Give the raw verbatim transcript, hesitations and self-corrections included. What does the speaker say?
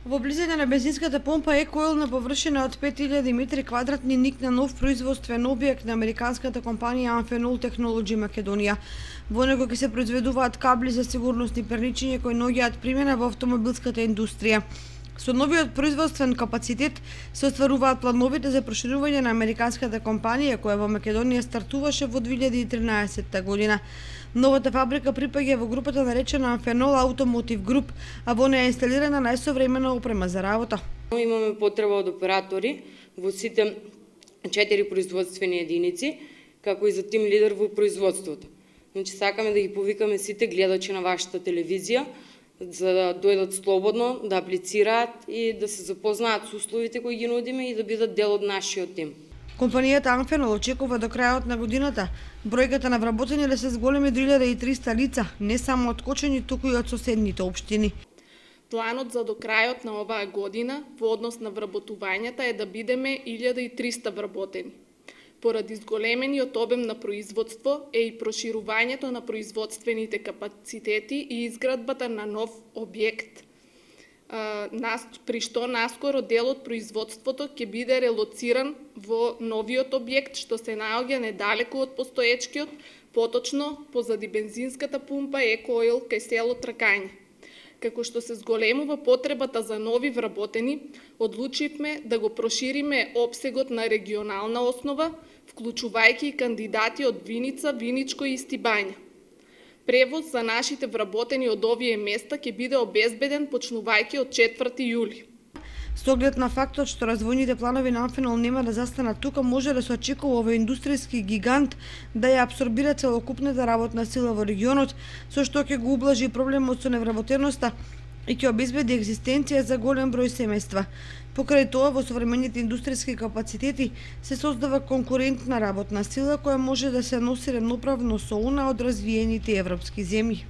Во близина на бензинската помпа Екоил на површина од пет илјади метри квадратни никна нов производствен објект на американската компанија Amphenol Technology Македонија. Во него ќе се произведуваат кабли за сигурnosни перничиња кои наоѓаат примена во автомобилската индустрија. Со новиот производствен капацитет се остваруваат плановите за проширување на американската компанија која во Македонија стартуваше во две илјади и тринаесетта година. Новата фабрика припаѓа во групата наречена Amphenol Automotive Group, а во неја е инсталирана најсовремена опрема за работа. Имаме потреба од оператори во сите четири производствени единици, како и за тим лидер во производството. Значи сакаме да ги повикаме сите гледачи на вашата телевизија за да дојдат слободно, да аплицираат и да се запознаат со условите кои ги нудиме и да бидат дел од нашиот тим. Компанијата Amphenol очекува до крајот на годината бројката на вработени да се зголеми до илјада и триста лица, не само од Кочани, туку и од соседните општини. Планот за до крајот на оваа година во однос на вработувањата е да бидеме илјада и триста вработени. Поради зголемениот обем на производство е и проширувањето на производствените капацитети и изградбата на нов објект, при што наскоро дел од производството ќе биде релоциран во новиот објект што се наоѓа недалеку од постоечкиот, поточно позади бензинската пумпа Екоил кај село Тракање. Како што се зголемува потребата за нови вработени, одлучивме да го прошириме опсегот на регионална основа, вклучувајќи и кандидати од Виница, Виничко и Стибања. Превоз за нашите вработени од овие места ќе биде обезбеден почнувајќи од четврти јули. Со оглед на фактот што развојните планови на Amphenol нема да застанат тука, може да се очекува овој индустријски гигант да ја апсорбира целокупната работна сила во регионот, со што ќе го ублажи проблемот со невработеноста и ќе обезбеди екзистенција за голем број семејства. Покрај тоа, во современите индустријски капацитети се создава конкурентна работна сила која може да се носи рамноправно со она од развиените европски земји.